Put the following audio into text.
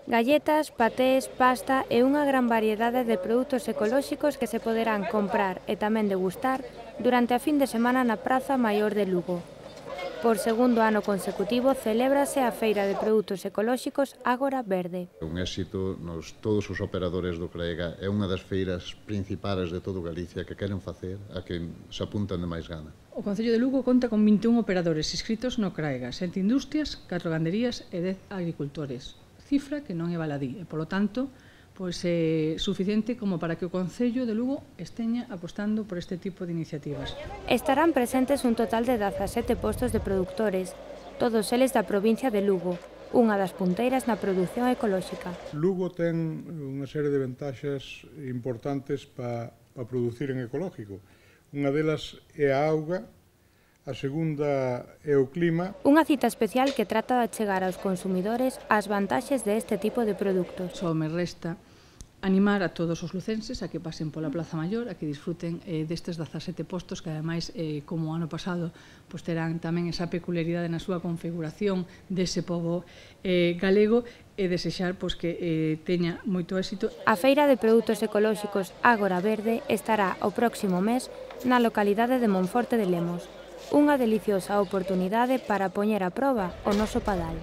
Galletas, patés, pasta e unha gran variedade de produtos ecolóxicos que se poderán comprar e tamén degustar durante a fin de semana na Praza Maior de Lugo. Por segundo ano consecutivo celébrase a Feira de Produtos Ecolóxicos Ágora Verde. Un éxito todos os operadores do CREGA, é unha das feiras principais de todo Galicia que queren facer a que se apuntan de máis gana. O Concello de Lugo conta con 21 operadores inscritos no CRAEGA, 7 industrias, 4 ganderías e 10 agricultores. Cifra que non é baladí e, polo tanto, é suficiente como para que o Concello de Lugo esteña apostando por este tipo de iniciativas. Estarán presentes un total de 17 postos de produtores, todos eles da provincia de Lugo, unha das punteiras na produción ecolóxica. Lugo ten unha serie de ventaxas importantes para producir en ecolóxico. Unha delas é a auga, a segunda é o clima. Unha cita especial que trata de achegar aos consumidores as vantaxes deste tipo de produtos. Só me resta animar a todos os lucenses a que pasen pola Plaza Maior, a que disfruten destes 17 postos que, ademais, como o ano pasado, terán tamén esa peculiaridade na súa configuración dese pobo galego e desexar que teña moito éxito. A Feira de Produtos Ecolóxicos Ágora Verde estará o próximo mes na localidade de Monforte de Lemos. Unha deliciosa oportunidade para poñer a proba o noso padal.